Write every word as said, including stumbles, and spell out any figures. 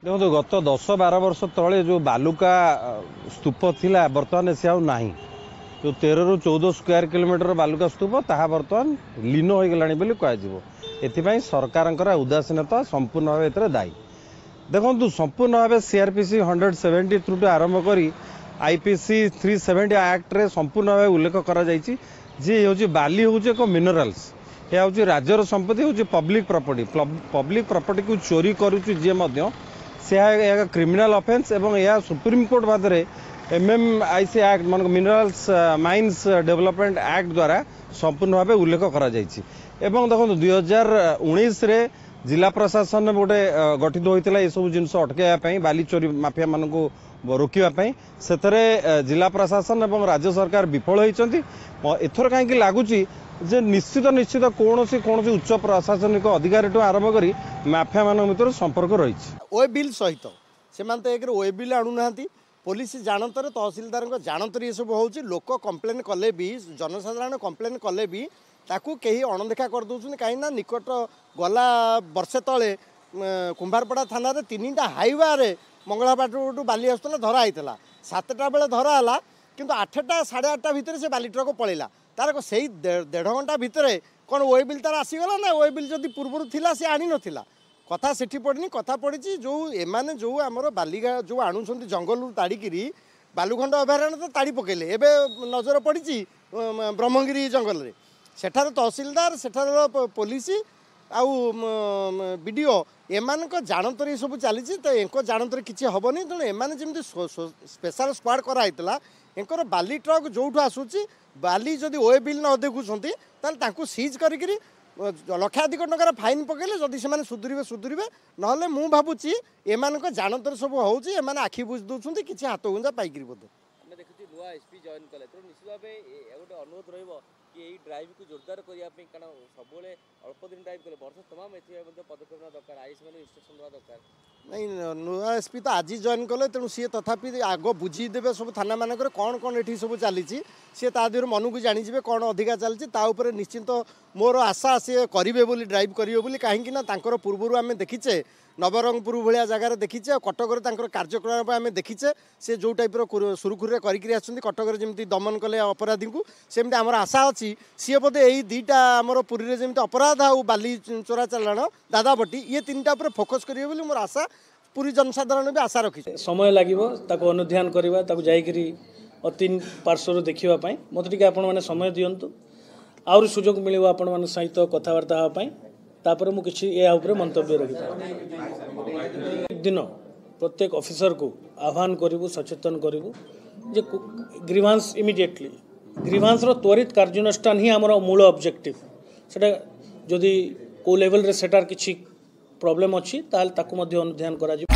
ଦେଖନ୍ତୁ, ଗତ ଦଶ ବାର ବର୍ଷ ତଳେ ଯେଉଁ ବାଲୁକା ସ୍ତୂପ ଥିଲା, ବର୍ତ୍ତମାନ ସେ ଆଉ ନାହିଁ। ଯେଉଁ ତେରରୁ ଚଉଦ ସ୍କୋୟାର କିଲୋମିଟର ବାଲୁକା ସ୍ତୂପ, ତାହା ବର୍ତ୍ତମାନ ଲୀନ ହୋଇଗଲାଣି ବୋଲି କୁହାଯିବ। ଏଥିପାଇଁ ସରକାରଙ୍କର ଉଦାସୀନତା ସମ୍ପୂର୍ଣ୍ଣ ଭାବେ ଏଥିରେ ଦାୟୀ। ଦେଖନ୍ତୁ, ସମ୍ପୂର୍ଣ୍ଣ ଭାବେ ସିଆର୍ପିସି ହଣ୍ଡ୍ରେଡ଼ ସେଭେଣ୍ଟି ଥ୍ରୁଠୁ ଆରମ୍ଭ କରି ଆଇପିସି ଥ୍ରୀ ସେଭେଣ୍ଟି ଆକ୍ଟରେ ସମ୍ପୂର୍ଣ୍ଣ ଭାବେ ଉଲ୍ଲେଖ କରାଯାଇଛି ଯେ ହେଉଛି ବାଲି ହେଉଛି ଏକ ମିନେରାଲ୍ସ, ଏହା ହେଉଛି ରାଜ୍ୟର ସମ୍ପତ୍ତି, ହେଉଛି ପବ୍ଲିକ ପ୍ରପର୍ଟି। ପବ୍ଲିକ ପ୍ରପର୍ଟିକୁ ଚୋରି କରୁଛି ଯିଏ ମଧ୍ୟ, ସେ ଏହା କ୍ରିମିନାଲ ଅଫେନ୍ସ ଏବଂ ଏହା ସୁପ୍ରିମକୋର୍ଟ ବାଦରେ M M I C act ମାନେ ମିନେରାଲ୍ସ ମାଇନ୍ସ ଡେଭଲପମେଣ୍ଟ ଆକ୍ଟ ଦ୍ୱାରା ସମ୍ପୂର୍ଣ୍ଣ ଭାବେ ଉଲ୍ଲେଖ କରାଯାଇଛି। ଏବଂ ଦେଖନ୍ତୁ, ଦୁଇ ହଜାର ଉଣେଇଶରେ ଜିଲ୍ଲା ପ୍ରଶାସନ ଗୋଟେ ଗଠିତ ହୋଇଥିଲା ଏସବୁ ଜିନିଷ ଅଟକାଇବା ପାଇଁ, ବାଲି ଚୋରି ମାଫିଆମାନଙ୍କୁ ରୋକିବା ପାଇଁ। ସେଥିରେ ଜିଲ୍ଲା ପ୍ରଶାସନ ଏବଂ ରାଜ୍ୟ ସରକାର ବିଫଳ ହୋଇଛନ୍ତି। ଏଥର କାହିଁକି ଲାଗୁଛି ଯେ ନିଶ୍ଚିତ ନିଶ୍ଚିତ କୌଣସି କୌଣସି ଉଚ୍ଚ ପ୍ରଶାସନିକ ଅଧିକାରୀଠୁ ଆରମ୍ଭ କରି ମାଫିଆମାନଙ୍କ ଭିତରେ ସମ୍ପର୍କ ରହିଛି। We bill ସହିତ ସେମାନେ ତ ଏକରେ we bill ଆଣୁନାହାନ୍ତି। ପୋଲିସ ଜାଣତରେ, ତହସିଲଦାରଙ୍କ ଜାଣତରେ ଏସବୁ ହେଉଛି। ଲୋକ କମ୍ପ୍ଲେନ୍ କଲେ ବି, ଜନସାଧାରଣ କମ୍ପ୍ଲେନ୍ କଲେ ବି ତାକୁ କେହି ଅଣଦେଖା କରିଦେଉଛନ୍ତି। କାହିଁକି ନା ନିକଟ ଗଲା ବର୍ଷେ ତଳେ କୁମ୍ଭାରପଡ଼ା ଥାନାରେ ତିନିଟା ହାଇୱାରେ ମଙ୍ଗଳାପାଟଠୁ ବାଲି ଆସୁଥିଲା, ଧରା ହେଇଥିଲା। ସାତଟା ବେଳେ ଧରା ହେଲା, କିନ୍ତୁ ଆଠଟା ସାଢ଼େ ଆଠଟା ଭିତରେ ସେ ବାଲି ଟ୍ରକ୍ ପଳେଇଲା। ତାର ସେଇ ଦେଢ଼ ଘଣ୍ଟା ଭିତରେ କ'ଣ we bill ତାର ଆସିଗଲା ନା we bill ଯଦି ପୂର୍ବରୁ ଥିଲା ସେ ଆଣିନଥିଲା? କଥା ସେଠି ପଡ଼ିନି। କଥା ପଡ଼ିଛି ଯେଉଁ ଏମାନେ ଯେଉଁ ଆମର ବାଲିଗା ଯେଉଁ ଆଣୁଛନ୍ତି ଜଙ୍ଗଲରୁ ତାଡ଼ିକିରି, ବାଲୁଖଣ୍ଡ ଅଭୟାରଣ୍ୟ ତ ତାଡ଼ି ପକେଇଲେ, ଏବେ ନଜର ପଡ଼ିଛି ବ୍ରହ୍ମଗିରି ଜଙ୍ଗଲରେ। ସେଠାରେ ତହସିଲଦାର, ସେଠାର ପୋଲିସ ଆଉ ବି ଡ଼ି ଓ ଏମାନଙ୍କ ଜାଣତରେ ଏସବୁ ଚାଲିଛି। ତ ଏଙ୍କ ଜାଣତରେ କିଛି ହେବନି। ତେଣୁ ଏମାନେ ଯେମିତି ସ୍ପେଶାଲ ସ୍କ୍ୱାଡ଼ କରାହେଇଥିଲା, ଏଙ୍କର ବାଲି ଟ୍ରକ୍ ଯେଉଁଠୁ ଆସୁଛି, ବାଲି ଯଦି we bill ନ ଦେଖୁଛନ୍ତି ତାହେଲେ ତାଙ୍କୁ ସିଜ୍ କରିକିରି ଲକ୍ଷାଧିକ ଟଙ୍କାର ଫାଇନ୍ ପକେଇଲେ ଯଦି ସେମାନେ ସୁଧୁରିବେ ସୁଧୁରିବେ, ନହେଲେ ମୁଁ ଭାବୁଛି ଏମାନଙ୍କ ଜାଣତରେ ସବୁ ହେଉଛି। ଏମାନେ ଆଖି ବୁଜି ଦେଉଛନ୍ତି କିଛି ହାତ ଗୁଞ୍ଜା ପାଇକିରି ବୋଧେ। ଆମେ ଦେଖୁଛୁ ନୂଆ ଏସ୍ ପି ଜଏନ୍ କଲେ, ତେଣୁ ନିଶ୍ଚିତ ଭାବେ ଗୋଟେ ଅନୁରୋଧ ରହିବ କି ଏଇ ଡ୍ରାଇଭ୍କୁ ଜୋରଦାର କରିବା ପାଇଁ, କାରଣ ସବୁବେଳେ ଅଳ୍ପ ଦିନ ଡ୍ରାଇଭ୍ କଲେ ବର୍ଷ ତମାମ ଏଥିପାଇଁ ମଧ୍ୟ ପଦକ୍ଷେପ ନେବା ଦରକାର, is ମାନଙ୍କୁ ଇନଷ୍ଟ୍ରକ୍ସନ୍ ଦେବା ଦରକାର। ନାଇଁ, ନୂଆ ଏସ୍ ପି ତ ଆଜି ଜଏନ୍ କଲେ, ତେଣୁ ସିଏ ତଥାପି ଆଗ ବୁଝିଦେବେ ସବୁ ଥାନାମାନଙ୍କରେ କ'ଣ କ'ଣ ଏଠି ସବୁ ଚାଲିଛି। ସିଏ ତା ଦେହରୁ ମନକୁ ଜାଣିଯିବେ କ'ଣ ଅଧିକା ଚାଲିଛି। ତା ଉପରେ ନିଶ୍ଚିନ୍ତ ମୋର ଆଶା ସିଏ କରିବେ ବୋଲି, ଡ୍ରାଇଭ୍ କରିବେ ବୋଲି। କାହିଁକି ନା ତାଙ୍କର ପୂର୍ବରୁ ଆମେ ଦେଖିଛେ, ନବରଙ୍ଗପୁର ଭଳିଆ ଜାଗାରେ ଦେଖିଛେ, ଆଉ କଟକରେ ତାଙ୍କର କାର୍ଯ୍ୟକଳାପ ଆମେ ଦେଖିଛେ। ସେ ଯେଉଁ ଟାଇପ୍ର ସୁରୁଖୁରୁରେ କରିକିରି ଆସୁଛନ୍ତି, କଟକରେ ଯେମିତି ଦମନ କଲେ ଅପରାଧୀଙ୍କୁ, ସେମିତି ଆମର ଆଶା ଅଛି ସିଏ ବୋଧେ ଏଇ ଦୁଇଟା ଆମର ପୁରୀରେ ଯେମିତି ଅପରାଧ ଆଉ ବାଲି ଚୋରା ଚାଲାଣ, ଦାଦାବଟି, ଇଏ ତିନିଟା ଉପରେ ଫୋକସ୍ କରିବେ ବୋଲି ମୋର ଆଶା। ପୁରୀ ଜନସାଧାରଣ ବି ଆଶା ରଖିଛି। ସମୟ ଲାଗିବ ତାକୁ ଅନୁଧ୍ୟାନ କରିବା, ତାକୁ ଯାଇକରି ତିନି ପାର୍ଶ୍ୱରୁ ଦେଖିବା ପାଇଁ। ମୋତେ ଟିକେ ଆପଣମାନେ ସମୟ ଦିଅନ୍ତୁ, ଆହୁରି ସୁଯୋଗ ମିଳିବ ଆପଣମାନଙ୍କ ସହିତ କଥାବାର୍ତ୍ତା ହେବା ପାଇଁ, ତାପରେ ମୁଁ କିଛି ଏହା ଉପରେ ମନ୍ତବ୍ୟ ରଖିପାରିବି। ଦିନ ପ୍ରତ୍ୟେକ ଅଫିସରକୁ ଆହ୍ୱାନ କରିବୁ, ସଚେତନ କରିବୁ ଯେ ଗ୍ରିଭାନ୍ସ ଇମିଡ଼ିଏଟଲି, ଗ୍ରିଭାନ୍ସର ତ୍ୱରିତ କାର୍ଯ୍ୟାନୁଷ୍ଠାନ ହିଁ ଆମର ମୂଳ ଅବଜେକ୍ଟିଭ। ସେଟା ଯଦି କେଉଁ ଲେଭେଲରେ ସେଟାର କିଛି ପ୍ରୋବ୍ଲେମ୍ ଅଛି, ତାହେଲେ ତାକୁ ମଧ୍ୟ ଅନୁଧ୍ୟାନ କରାଯିବ।